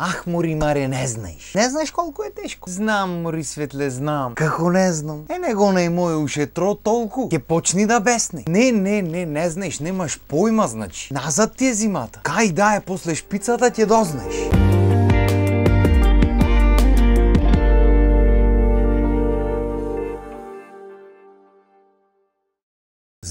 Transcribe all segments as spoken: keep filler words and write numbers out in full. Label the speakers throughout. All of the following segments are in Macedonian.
Speaker 1: Ах, мори Маре, не знаеш. Не знаеш колку е тешко. Знам, мори Светле, знам. Како не знам? Е, него не моје ушетро толку. Ке почни да бесне. Не, не, не, не знаеш, немаш појма, значи. Назад ти е зимата. Кај да е после шпицата ќе дознаеш.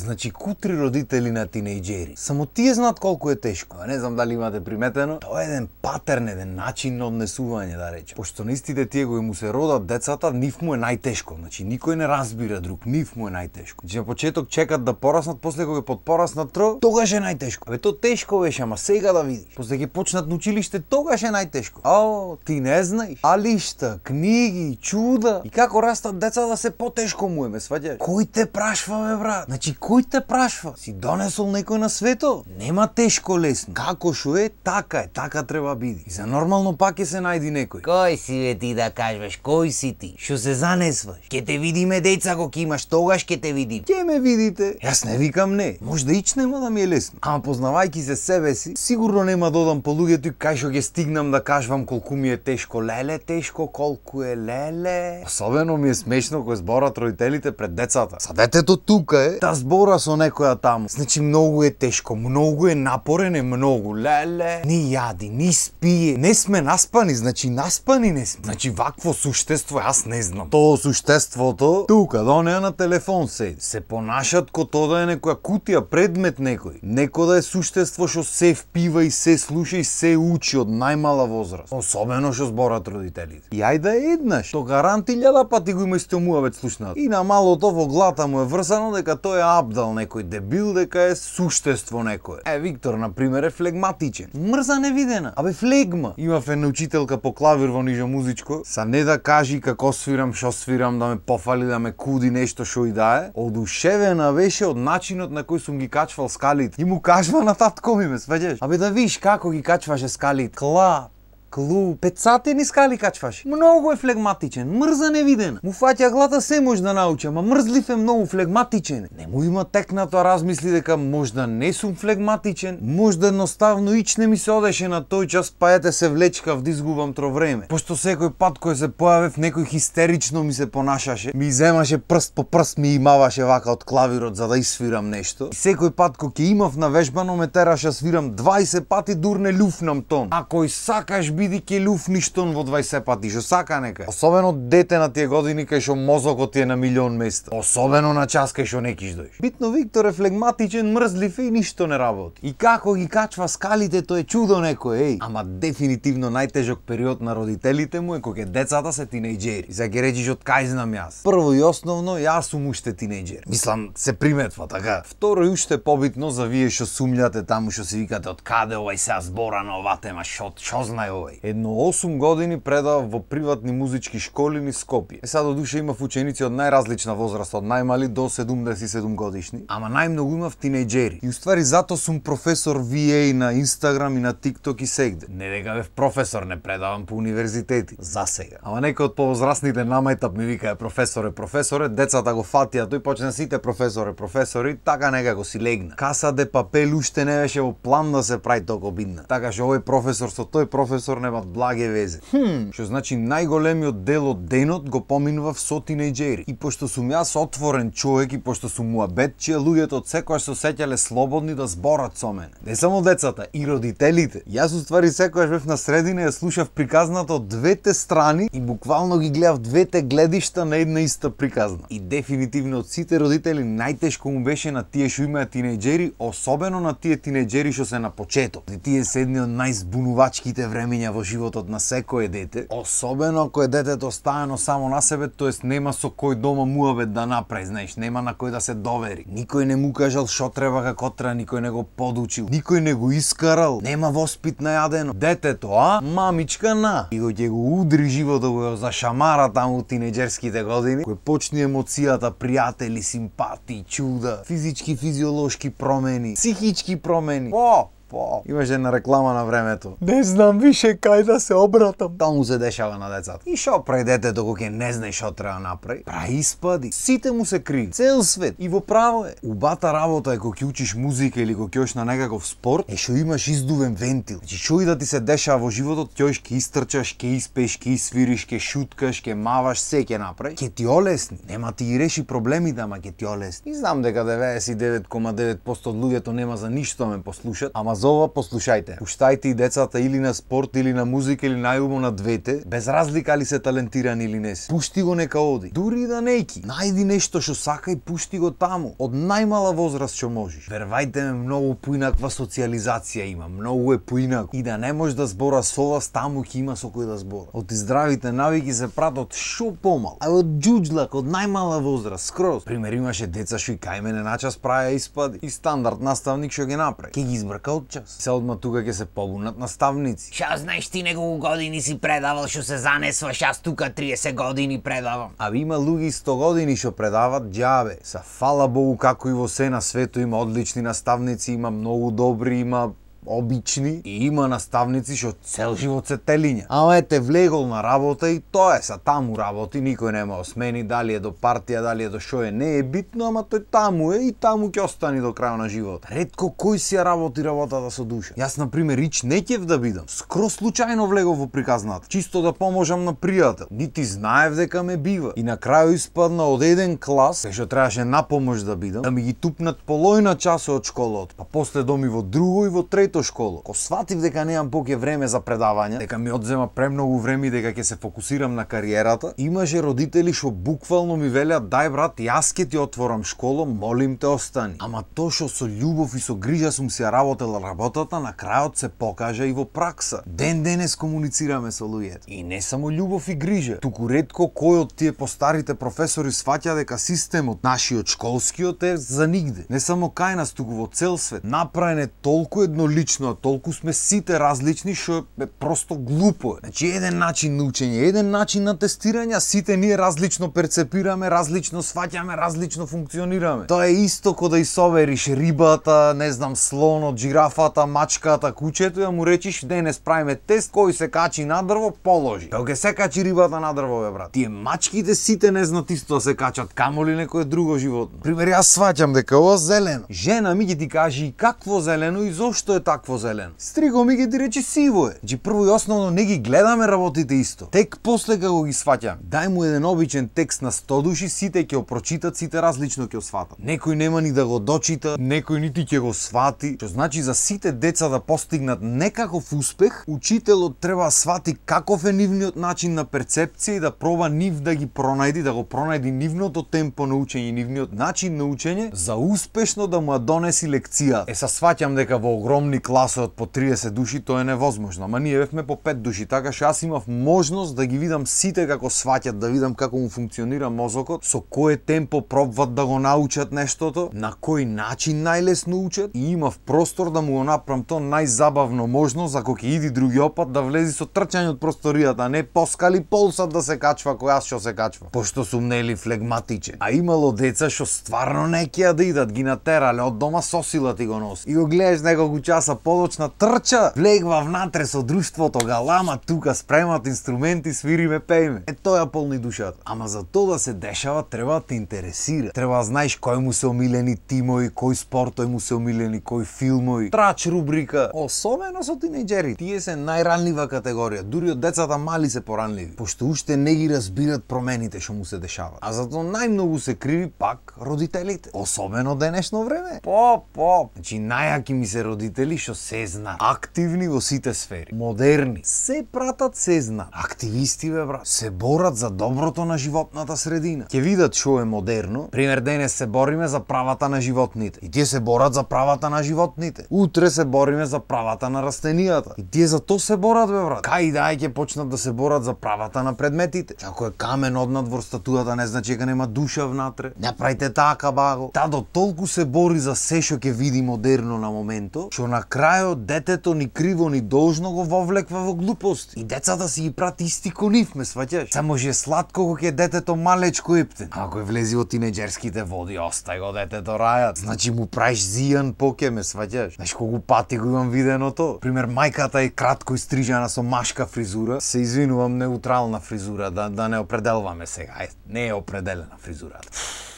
Speaker 1: Значи, кутри родители на тинејџери. Само тие знаат колку е тешко. А не знам дали имате приметено. Тоа е еден патерн, еден начин на однесување, да речем. Пошто наистите тие кои му се родат децата, нив му е најтешко. Значи, никој не разбира друг, нив му е најтешко. Значи, на почеток чекат да пораснат, после кога подпораснат тро, тогаш е најтешко. Абе, то тешко беше, ама сега да видиш. После ќе почнат на училиште, тогаш е најтешко. Ао, ти не знаеш. Алишта, книги, чуда. И како растат децата, се потешко му е, ме сваѓаш. Кој те прашва, бе, брат? Значи, кој те прашва? Си донесол некој на светот? Нема тешко лесно. Како шо е, така е, така треба биде. И за нормално пак ќе се најди некој. Кој си бе ти да кажеш, кој си ти? Шо се занесваш? Ке те видиме деца кога имаш, тогаш ке те видим. Ке ме видите? Јас не викам не. Може да ич нема да ми е лесно. Ама познавајки се себе си, сигурно нема додам по луѓето и кај шо ќе стигнам да кажувам колку ми е тешко. Леле тешко, колку е леле. Особено ми е смешно кога зборат родителите пред децата. Са детето тука е, та збора со некоја таму. Значи многу е тешко, многу е напорен, е многу. Леле, ни јади, ни спие. Не сме наспани, значи наспани не сме. Значи вакво суштество јас не знам. Тоа суштеството тука, да онеа на телефон седи. Се понашат ко тоа да е некоја кутија, предмет некој. Неко да е суштество што се впива и се слуша и се учи од најмала возраст. Особено што зборат родителите. И ајде еднаш, то гаранти илјада пати го има исто муавет слушнат. И на малото во глата му е врсано дека тој е абдал некој дебил, дека е суштество некое. Е, Виктор, например, е флегматичен. Мрза невидена. Абе, флегма. Имав една учителка по клавир во нижо музичко, са не да кажи како свирам, шо свирам, да ме пофали, да ме куди нешто шо и да е. Одушевена беше од начинот на кој сум ги качвал скалите. И му кажва на татко ми, ме сваѓаш. Абе, да виш како ги качваше скалите. Клап, клуб, петсатени скали качваше. Многу е флегматичен, мрза невидена. Му фаќа глата, се може да научи, ама мрзлив е многу, флегматичен. Не му има текнато размисли дека можда не сум флегматичен, можда едноставно ич не ми се одеше на тој час, па ете се влечкав да изгубам тро време. Пошто секој пат кој се појавев, некој хистерично ми се понашаше, ми земаше прст по прст, ми имаваше вака од клавирот за да исвирам нешто. И секој пат кој ќе имав навежбано ме тераше свирам дваесет пати, дур не люфнам тон. Ако и сакаш биди ке люфниш тон во дваесет пати, шо сака нека. Особено дете на тие години кај шо мозокот ти е на милион места. Особено на час кај шо не киш дојш. Битно Виктор е флегматичен, мрзлив и ништо не работи. И како ги качва скалите, тоа е чудо некој, еј. Ама дефинитивно најтежок период на родителите му е кога децата се тинејџери. И за ќе речиш од кај знам јас. Прво и основно, јас сум уште тинејџер. Мислам, се приметва така. Второ и уште побитно за вие шо сумљате таму, шо си викате од каде овај сега збора на оваа тема, шо, шо знае овај. Едно осум години предавав во приватни музички школи низ Скопје. Е сега до душа имав ученици од најразлична возраст, од најмали до седумдесет и седум годишни, ама најмногу имав тинејџери. И уствари зато сум професор ви еј на Инстаграм и на ТикТок и сегде. Не дека бев професор, не предавам по универзитети, за сега. Ама некој од повозрастните намајтап ми вика е професоре, професоре, децата го фатија, тој почна сите професоре, професори, така некако си легна. Каса де папел уште не беше во план да се прави толку бидна. Така што овој професор со тој професор немат благе везе. Хм, што значи најголемиот дел од денот го поминував со тинејџери. И пошто сум јас отворен човек и пошто сум муабетчија, луѓето од секојаш се осеќале слободни да зборат со мене. Не само децата, и родителите. Јас уствари секојаш бев на средина и ја слушав приказната од двете страни и буквално ги гледав двете гледишта на една иста приказна. И дефинитивно од сите родители најтешко му беше на тие што имаат тинејџери, особено на тие тинејџери што се на почеток. И тие се едни од најзбунувачките времења во животот на секое дете, особено ако е детето оставено само на себе, тоест нема со кој дома муабет да направи, знаеш, нема на кој да се довери. Никој не му кажал шо треба како треба, никој не го подучил, никој не го искарал, нема воспит најадено. Детето, а? Мамичка на. И кој ќе го удри животот, го зашамара таму у тинејџерските години, кој почне емоцијата, пријатели, симпатии, чуда, физички, физиолошки промени, психички промени. О! по. Имаше една реклама на времето. Не знам више кај да се обратам. Таму се дешава на децата. И шо прави детето кога ќе не знае шо треба направи? Прави испади. Сите му се криви. Цел свет. И во право е. Убата работа е кога ќе учиш музика или кога ќе одиш на некаков спорт, е што имаш издувен вентил. Значи што и да ти се дешава во животот, ќе ќе истрчаш, ќе испееш, ќе свириш, ќе шуткаш, ќе маваш, се ќе направи. Ќе ти олесни. Нема ти ги реши проблемите, ама ќе ти олесни. И знам дека деветдесет и девет зарез и девет проценти од луѓето нема за ништо ме послушат, ама за ова послушајте. Пуштајте и децата или на спорт, или на музика, или најубаво на двете, без разлика ли се талентирани или не се. Пушти го нека оди. Дури и да нејки. Најди нешто што сака и пушти го таму. Од најмала возраст што можеш. Вервајте ме, многу поинаква социализација има, многу е поинако. И да не можеш да збора со вас, таму ќе има со кој да збора. Од здравите навики се пратат шо помал. А од џуџлак, од најмала возраст, скроз. Пример, имаше деца што и кај мене на час правеа испади. И стандард наставник што ги направи. Ке ги избрка од час. Се одма тука ќе се побунат наставници.
Speaker 2: Ша знаеш ти неколку години си предавал што се занесваш, аз тука триесет години предавам.
Speaker 1: А има луѓе сто години што предават џабе. Са фала Богу како и во се на свето има одлични наставници, има многу добри, има обични и има наставници што цел живот се телиња. Ама ете влегол на работа и тоа е, са таму работи, никој нема осмени, дали е до партија, дали е до шо е, не е битно, ама тој таму е и таму ќе остани до крај на живот. Ретко кој си ја работи работата со душа. Јас на пример ич не ќев да бидам. Скроз случајно влегов во приказната, чисто да поможам на пријател. Нити знаев дека ме бива. И на крај испадна од еден клас, кај што требаше на помош да бидам, да ми ги тупнат полојна часот од школот, па после доми во друго и во трето школа. Ко сватив дека немам поќе време за предавања, дека ми одзема премногу време и дека ќе се фокусирам на кариерата, имаше родители што буквално ми велеат: "Дај брат, јас ќе ти отворам школа, молим те остани." Ама тоа што со љубов и со грижа сум си ја работела работата, на крајот се покажа и во пракса. Ден денес комуницираме со луѓето. И не само љубов и грижа, туку ретко кој од тие постарите професори сваќа дека системот нашиот школскиот е за нигде. Не само кај нас, туку во цел свет. Направен е толку еднолично, а толку сме сите различни што е просто глупо. Значи еден начин на учење, еден начин на тестирање, сите ние различно перцепираме, различно сваќаме, различно функционираме. Тоа е исто ко да исовериш рибата, не знам, слонот, жирафата, мачката, кучето и да му речиш: "Денес правиме тест, кој се качи на дрво, положи." Тоа ќе се качи рибата на дрво, бе брат. Тие мачките сите не знаат исто да се качат, камоли некое друго животно. Пример, јас сваќам дека ова зелено. Жена ми ќе ти каже и какво зелено и зошто е такво зелено. Стриго ми ќе ти рече сиво е. Значи прво и основно не ги гледаме работите исто. Тек после како ги сваќам. Дај му еден обичен текст на сто души, сите ќе го прочитат, сите различно ќе го сватат. Некој нема ни да го дочита, некој нити ќе го свати. Што значи за сите деца да постигнат некаков успех, учителот треба да свати каков е нивниот начин на перцепција и да проба нив да ги пронајди, да го пронајди нивното темпо на учење, нивниот начин на учење за успешно да му ја донеси лекција. Е, са сваќам дека во огромни класи од по триесет души тоа е невозможно, ама ние бевме по пет души, така што јас имав можност да ги видам сите како сваќат, да видам како му функционира мозокот, со кое темпо пробват да го научат нештото, на кој начин најлесно учат, и имав простор да му го направам тоа најзабавно можност, ако ќе иди другиот пат да влези со трчање од просторијата, а не поскали полсат да се качва кој јас што се качва, пошто сум нели флегматичен. А имало деца што стварно не ќе да идат, ги натерале од дома со сила ти го носи. И го гледаш неколку часа подоцна трча, влегва внатре со друштвото, галама тука, спремат инструменти, свириме, пееме. Е тоа полни душата. Ама за тоа да се дешава треба да те интересира. Треба да знаеш кој му се омилени тимови, кој спортови му се омилени, кој филмови, трач рубрика. Особено со тинејџери. Тие се најранлива категорија. Дури од децата мали се поранливи, пошто уште не ги разбират промените што му се дешаваат. А затоа најмногу се криви пак родителите. Особено денешно време. По, по. Значи најаки ми се родители што се знаат. Активни во сите сфери. Модерни. Се пратат, се знаат. Активисти, бе брат. Се борат за доброто на животната средина. Ќе видат што е модерно. Пример, денес се бориме за правата на животните. И тие се борат за правата на животните. Утре се бориме за правата на растенијата. И тие за тоа се борат, бе брат. Кај дај ќе почнат да се борат за правата на предметите. Ако е камен однад во статујата, не значи дека нема душа внатре. Не правите така, баго. Та до толку се бори за се што ќе види модерно на моментот, што на крајот детето ни криво ни должно го вовлеква во глупости. И децата си ги прати исти ко нив, ме сваќаш? Само же сладко кога ќе детето малечко ептен. Ако е влези во тинеџерските води, остај го детето рајат. Значи му праиш зијан поке, ме сваќаш? Знаеш колку пати го имам видено то? Пример, мајката е кратко истрижана со машка фризура. Се извинувам, неутрална фризура, да, да не определваме сега. Е, не е определена фризурата.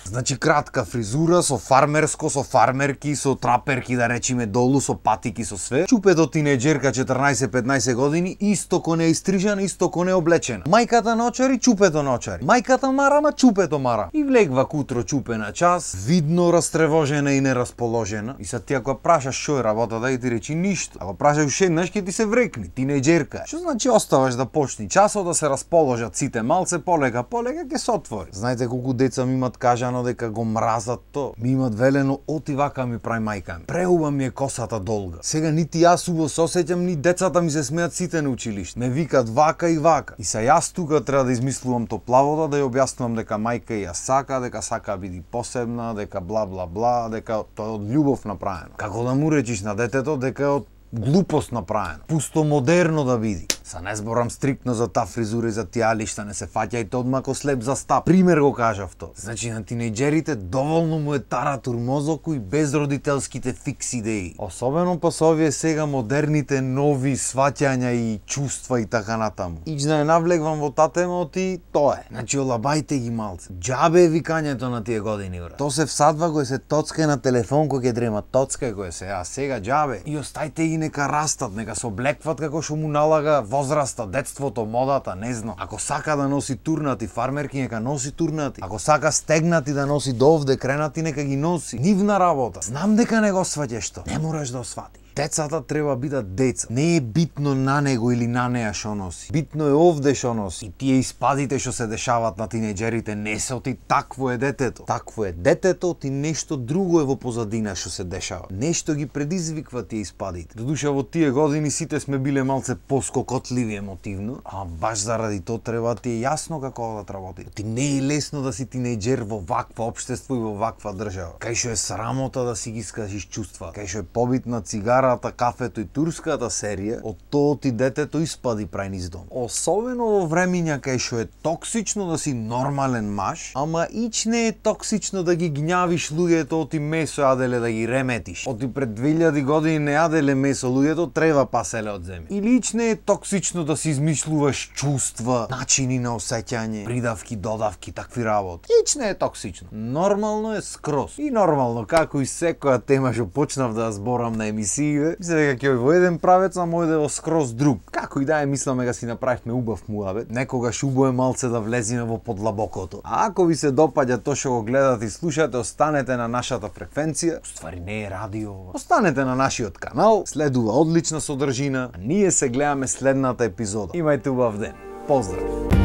Speaker 1: Значи кратка фризура со фармерско, со фармерки, со траперки да речиме долу, со патики, со све. Чупето тинеџерка четрнаесет-петнаесет години, исто ко не истрижана, исто ко не облечена. Мајката ночари, чупето ночари. Мајката марама, чупето мара. И влегва кутро чупена час, видно растревожена и нерасположена. И сад ти ако прашаш шо е работа, да ти речи ништо. Ако прашаш уште еднаш ќе ти се врекни, тинеџерка. Што значи оставаш да почни часот да се расположат сите малце, полека, полека ќе се отвори. Знаете колку деца ми имат кажано дека го мразат то. Ми имат велено, оти вака ми прави мајка ми. Преуба ми е косата долга. Сега нити јас убаво се осеќам, ни децата ми се смеат сите на училиште. Ме викат вака и вака. И са јас тука треба да измислувам топлавода, да ја објаснувам дека мајка ја сака, дека сака биди посебна, дека бла бла бла, дека тоа е од љубов направено. Како да му речиш на детето дека е од глупост направено. Пусто модерно да биди. Са не зборам стриктно за таа фризура и за тие лишта, не се фаќајте одма ко слеп за стап. Пример го кажав то. Значи на тинеџерите доволно му е таратур мозоку и без родителските фикс идеи. Особено па со овие сега модерните нови сваќања и чувства и така натаму. Ич да не навлегвам во таа тема, оти тоа е. Значи олабајте ги малце. Џабе е викањето на тие години, брат. То се всадва кој се тоцка на телефон кој ќе дрема, тоцка кој се, а сега џабе. И остајте ги нека растат, нека се облекват како што му налага возраста, детството, модата, не знам. Ако сака да носи турнати, фармерки нека носи турнати. Ако сака стегнати да носи довде, кренати нека ги носи. Нивна работа. Знам дека не го сваќаш тоа. Не мораш да осватиш. Децата треба бидат деца. Не е битно на него или на неа што носи. Битно е овде што носи. И тие испадите што се дешаваат на тинеџерите не се оти такво е детето. Такво е детето, ти нешто друго е во позадина што се дешава. Нешто ги предизвиква тие испадите. Додуша во тие години сите сме биле малце поскокотливи емотивно, а баш заради тоа треба ти е јасно како да работи. Ти не е лесно да си тинеџер во ваква општество и во ваква држава. Кај што е срамота да си ги искажиш чувства. Кај што е побитна цигара, кафето и турската серија, од тоа ти детето испади прај низ дом. Особено во времиња кај што е токсично да си нормален маж, ама ич не е токсично да ги гњавиш луѓето, оти месо јаделе да ги реметиш. Оти пред две илјади години не јаделе месо луѓето, треба паселе од земја. Или ич не е токсично да си измислуваш чувства, начини на осеќање, придавки, додавки, такви работи. Ич не е токсично. Нормално е скроз. И нормално, како и секоја тема што почнав да зборам на емисии, мислам дека ќе во еден правец, а мојде во скроз друг. Како и да е, мислам дека си направивме убав муабет. Некогаш убаво е малце да влеземе во подлабокото. А ако ви се допаѓа тоа што го гледате и слушате, останете на нашата фреквенција. Уствари не е радио. Останете на нашиот канал, следува одлична содржина, а ние се гледаме следната епизода. Имајте убав ден. Поздрав!